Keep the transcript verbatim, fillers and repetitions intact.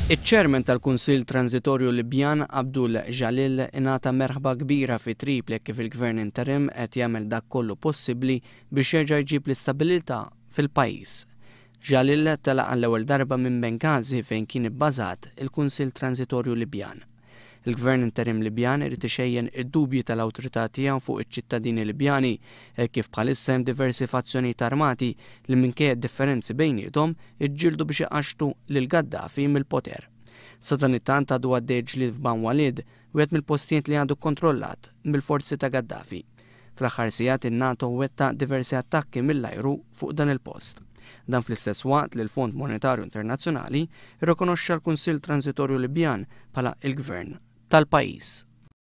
Iċ-Chairman tal-Kunsill Transitorju Libjan, Abdul Jalil, ingħata merħba kbira fi Tripli kif il-Gvern interim qed jagħmel dak kollu possibbli biex jerġa' jġib l-istabilità fil-pajjiż. Jalil telaq għall-ewwel darba minn Benghazi, fejn kien ibbażat il-Kunsill Transitorju Libjan. Il-Gvern interim Libjan irid ixejjen id-dubji tal-awtorità tiegħu fuq iċ-ċittadini Libjani, kif bħalissa hemm diversi fazzjonijiet armati li, minkejja differenzi bejniethom, iġġieldu biex iqaxxtu lil Gaddafi mill-poter. Sadanittant għadu għaddej ġlied f'Ban Walid, wieħed mill-postijiet li għadu kontrollat mill-forzi ta' Gaddafi. Fl-aħħar sigħat in-NATO wettaq diversi attakki mill-ajru fuq dan il-post. Dan fl-istess waqt li l-Fond Monetarju Internazzjonali rrikonoxxa l-Kunsill Transitorju Libjan bħala il-Gvern tal-pajjiż.